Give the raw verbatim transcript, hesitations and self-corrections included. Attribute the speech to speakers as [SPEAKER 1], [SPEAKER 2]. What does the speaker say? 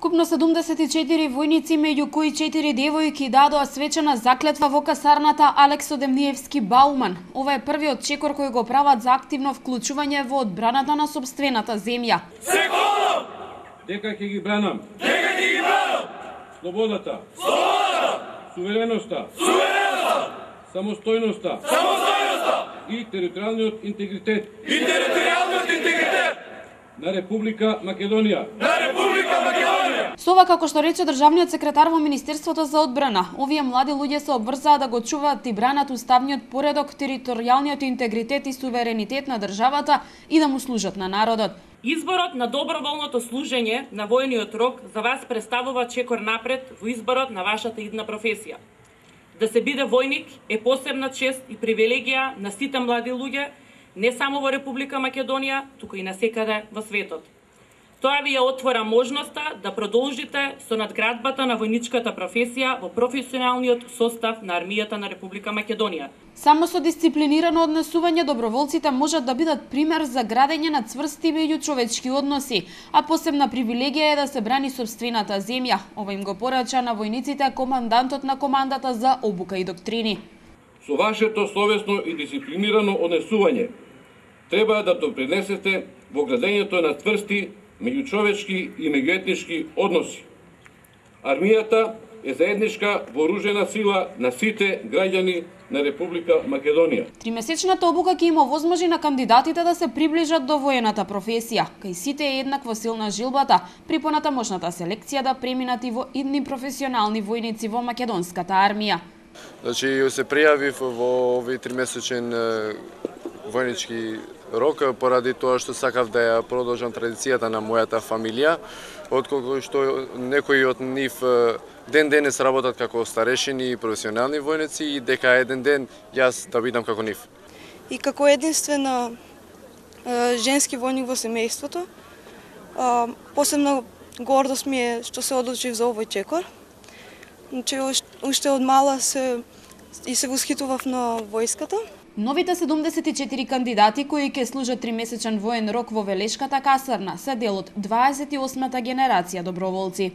[SPEAKER 1] Вкупно седумдесет и четири војници, меѓу кои четири девојки, дадоа свечена заклетва во касарната Алексо Демниевски Бауман. Ова е првиот чекор кој го прават за активно вклучување во одбраната на сопствената земја.
[SPEAKER 2] Секолом!
[SPEAKER 3] Дека ќе ги бранам.
[SPEAKER 2] Дека ќе ги бранам!
[SPEAKER 3] Слободата.
[SPEAKER 2] Слободата!
[SPEAKER 3] Сувереноста.
[SPEAKER 2] Сувереноста!
[SPEAKER 3] Самостојноста.
[SPEAKER 2] Самостојноста!
[SPEAKER 3] И територијалниот интегритет.
[SPEAKER 2] И територијалниот интегритет!
[SPEAKER 3] На Република Македонија.
[SPEAKER 2] На Република Македонија!
[SPEAKER 1] Со ова, како што рече државниот секретар во Министерството за одбрана, овие млади луѓе се обврзаа да го чуваат и бранат уставниот поредок, територијалниот интегритет и суверенитет на државата и да му служат на народот.
[SPEAKER 4] Изборот на доброволното служење на војниот рок за вас представува чекор напред во изборот на вашата идна професија. Да се биде војник е посебна чест и привилегија на сите млади луѓе, не само во Република Македонија, туку и насекаде во светот. Тоа ви ја отвора можноста да продолжите со надградбата на војничката професија во професионалниот состав на армијата на Република Македонија.
[SPEAKER 1] Само со дисциплинирано однесување доброволците можат да бидат пример за градење на цврсти меѓучовечки односи, а посебна привилегија е да се брани сопствената земја. Ова им го порача на војниците командантот на командата за обука и доктрини.
[SPEAKER 3] Со вашето совесно и дисциплинирано однесување треба да допринесете во градењето на цврсти меѓучовечки и меѓуетнички односи. Армијата е заедничка вооружена сила на сите граѓани на Република Македонија.
[SPEAKER 1] Тримесечната обука ќе им овозможи на кандидатите да се приближат до воената професија. Кај сите е еднакво силна жилбата при понатамошната селекција да преминат и во идни професионални војници во македонската армија.
[SPEAKER 5] Значи, се пријавив во овој тримесечен војнички рок поради тоа што сакав да ја продолжам традицијата на мојата фамилија, отколку што некои од нив ден денес работат како старешини и професионални војници и дека еден ден јас да бидам како нив.
[SPEAKER 6] И како единствена женски војник во семејството, посебно гордост ми е што се одлучив за овој чекор. Значи, уште од мала се и се восхитував на војската.
[SPEAKER 1] Новите седумдесет и четири кандидати кои ќе служат тримесечен воен рок во Велешката касарна се дел од дваесет и осмата генерација доброволци.